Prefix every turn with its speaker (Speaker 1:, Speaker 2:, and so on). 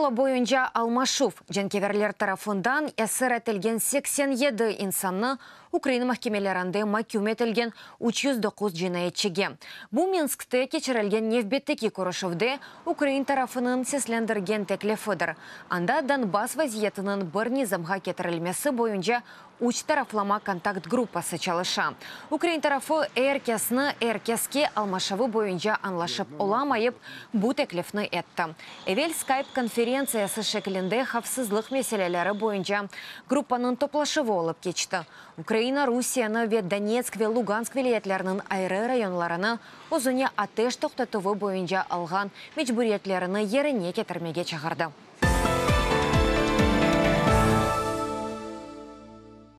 Speaker 1: Formula boyunca almaşuv, cenkeverler tarafından esir etilgen 87 insannı ukrain mahkemelerinde maküm etilgen 309 cinayetçige. Bu Minskte keçirilgen nevbetteki körüşüvde ukrain tarafınıñ seslendirgen teklifidir. Anda Donbass vaziyetiniñ bir nizamğa ketirilmesi boyunca üç taraflama kontakt gruppası çalışa. Ukrain tarafı er kesni er keske almaşuvı boyunca añlaşıp olamayıp, bu teklifni etti. Evel Skype konferentsiyası şeklinde havfsızlıq meseleleri boyunca gruppanıñ toplaşuvı olıp keçti. Ukraina Rusiyeni ve Donetsk ve Lugansk vilâyetleriniñ ayrı rayonlarını özüne ateş toqtatuvı boyunca alğan mecburiyetlerini yerine ketirmege çağırdı.